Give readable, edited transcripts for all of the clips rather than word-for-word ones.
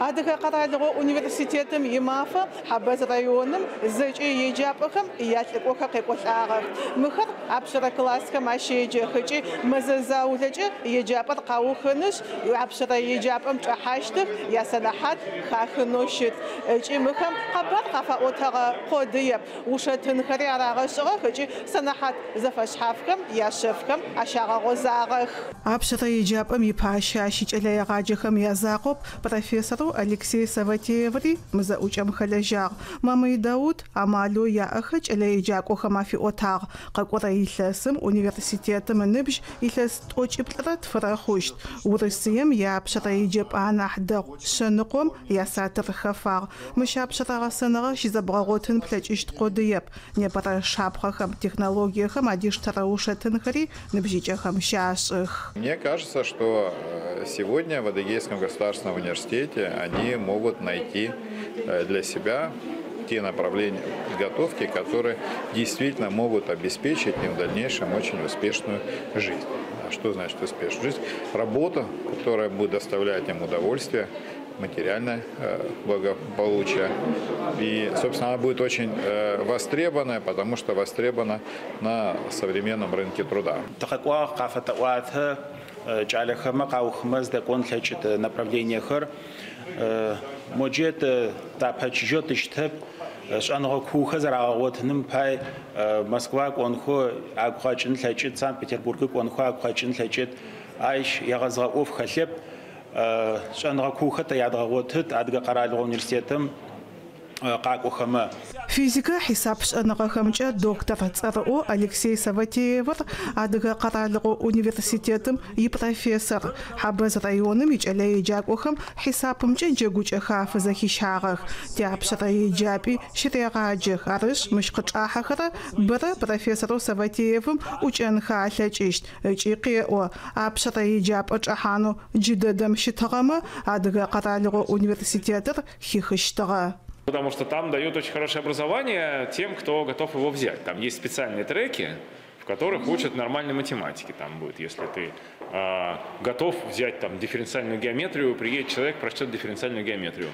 Адыгэ къэралыгъо университетым имафэ Хьабэз районым зэкӏэ еджапӏэхэм ялӏыкӏохэр къекӏолӏагъэх. Мыхэр апшъэрэ классхэм ащеджэх ыкӏи мэзэ заулэкӏэ еджапӏэр къаухынышъ, апшъэрэ еджапӏэм чӏэхьащтых, ясэнэхьат хахынэу щыт. Ыкӏи мыхэм къэбар къафаӏотэгъэ къодыеп, ушэтынхэри арагъэшӏыгъэх ыкӏи сэнэхьат зэфэшъхьафхэм яшъэфхэм ащагъэгъозагъэх. Апшъэрэ еджапӏэм ипащэ ащ икӏэлэегъаджэхэм язакъоп профессорэу Алексей Саватееври мы зэӏукӏэм хэлэжьагъ. Мамый Даут амалэу яӏэхэр кӏэлэеджакӏохэм афиӏотагъ. Къэкӏорэ илъэсым университетым ыныбжь илъэс 92 хъущт. Урысыем иапшъэрэ еджапӏэ анахь дэгъу 100 ясатыр хэфагъ. Мыщ апшъэрэ гъэсэныгъэ щызэбгъэгъотын плъэкӏыщт къодыеп. Непэрэ шапхъэхэм, технологиехэм адиштэрэ ушэтынхэри ныбжьыкӏэхэм щашӏых. Мне кажется, что сегодня в Адыгейском государственном университете они могут найти для себя те направления подготовки, которые действительно могут обеспечить им в дальнейшем очень успешную жизнь. А что значит успешную жизнь? Работа, которая будет доставлять им удовольствие, материальное благополучие. И, собственно, она будет очень востребованная, потому что востребована на современном рынке труда. Направлениехэр моджет тапэчыжьэу тыщытэп, шӏэныгъэ куухэр зэрагъэгъотыным пай Москва кӏонхэу агу къэкӏын лъэкӏыт, Санкт-Петербург кӏонхэу агу къэкӏын лъэкӏыт. Ащ егъэзыгъэ ӏоф хэлъэп. Шӏэныгъэ куухэр тэ ядгъэгъотыт Адыгэ къэралыгъо университетым къакӏохэмэ. Физикэ хьисап шӏэныгъэхэмкӏэ доктор цӏэрыӏо Алексей Саватеевыр Адыгэ къэралыгъо университетым ипрофессор. Хьабэз районым икӏэлэеджакӏохэм хьисапымкӏэ джэгукӏэхэр афызэхищагъэх. Тиапшъэрэ еджапӏи щырегъаджэх. Арышъ, мыщ къычӏахьэхэрэ бэрэ профессорэу Саватеевым ӏукӏэнхэ алъэкӏыщт. Ыкӏи къеӏо, апшъэрэ еджапӏэ чӏэхьанэу джыдэдэм щытыгъэмэ Адыгэ къэралыгъо университетыр хихыщтыгъэ. Потому что там дают очень хорошее образование тем, кто готов его взять. Там есть специальные треки, в которых учат нормальной математике. Там будет, если ты готов взять там дифференциальную геометрию, приедет человек, прочтет дифференциальную геометрию.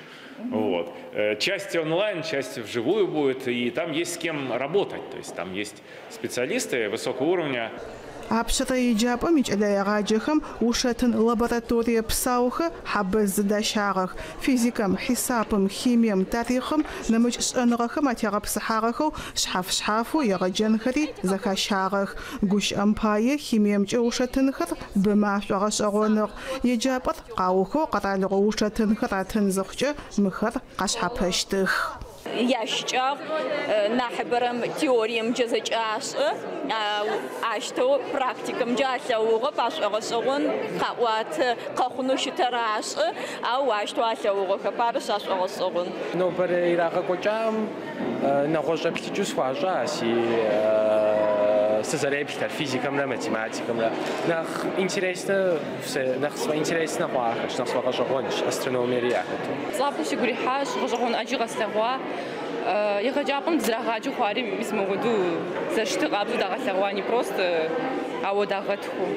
Вот. Часть онлайн, часть вживую будет, и там есть с кем работать. То есть там есть специалисты высокого уровня. Апшъэрэ еджапӏэм икӏэлэегъаджэхэм ушэтын лабораторие псаухэр Хьабэз зыдащагъэх. Физикэм, хьисапым, химием, тарихъым нэмыкӏ шӏэныгъэхэм атегъэпсыхьагъэхэу шъхьаф-шъхьафэу егъэджэнхэри зэхащагъэх. Гущыӏэм пае химиемкӏэ ушэтынхэр бэмэ ашӏогъэшӏэгъоныгъ. Еджапӏэр къаухэу къэралыгъо ушэтынхэр атын зыхъукӏэ мыхэр къашъхьапэщтых. Ящыкӏагъ нахьыбэрэм теориемкӏэ зэкӏашӏэ, ащтэу практикэмкӏэ алъэгъугъэп, ашӏогъэшӏэгъон къаӏуатэ, къэхъунэу щытэр ашӏэ, ау ащтэу алъэгъугъэхэп, арышъ ашӏогъэшӏэгъон. Нобэрэ ирагъэкӏокӏам нэгъуэщӏ еплъыкӏэу схуащӏа си сызэреплъхэр физикэмрэ математикэмрэ. Нэхъ интереснэ, нэхъ сфӏэинтереснэ хъуахэщ, нэхъ сфӏэгъэщӏэгъуэнщ астрономиери яхэту. Цӏапэу сигу ирихьащ, гъэщӏэгъуэн ӏэджи къэслъэгъуа. Егъэджапӏэм дызэрагъаджэу хъуари мис мыгъуэду зэрыщытыр къабзэу дагъэлъэгъуа, не просто ауэ дагъэтхыу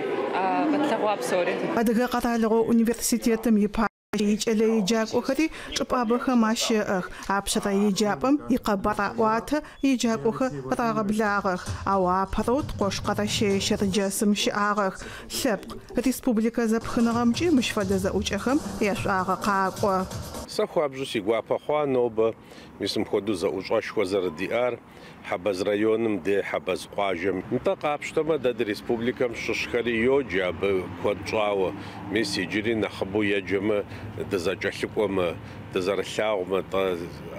къэтлъэгъуа псори. Адыгэ къэралыгъо университетым ипащэ икӏэлэеджакӏохэри чӏыпӏабэхэм ащэӏэх. Апшъэрэ еджапӏэм икъэбар аӏуатэ еджакӏохэр рагъэблагъэх. Ау апэрэу ткъош Къэрэщэе-Щэрджэсым щыӏагъэх. Лъэпкъ республикэ зэпхыныгъэмкӏи мыщ фэдэ зэӏукӏэхэм яшӏуагъэ къакӏо. Сэ хуабжьу си гуапэ хъуа нобэ мис мыпхуэдэу зэӏущӏэшхуэ зэрыдиӏар Хьэбэз районым де Хьэбэз къуажэм. Нтӏэ къапщтэмэ, дэ ди республикэм щыщхэри йоджэ абы куэд щӏауэ. Мис иджыри нэхъыбэу еджэмэ, дызэкӏэлъыкӏуэмэ, дызэрылъагъумэ, тӏэ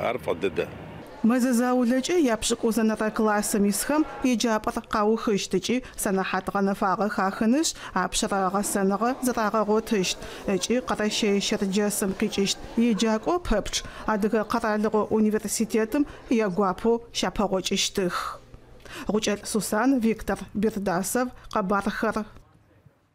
ар фӏы дыдэ. Мэзэ заулэкӏэ япшӏыкӏузэнэрэ классым исхэм еджапӏэр къаухыщт ыкӏи сэнэхьат гъэнэфагъэ хахынышъ, апшъэрэ гъэсэныгъэ зэрагъэгъотыщт. Ыкӏи Къэрэщэе-Щэрджэсым къикӏыщт еджакӏо пэпчъ Адыгэ къэралыгъо университетым ягуапэу щапэгъокӏыщтых. Гъукӏэлӏ Сусан, Виктор Бердасов, къэбархэр.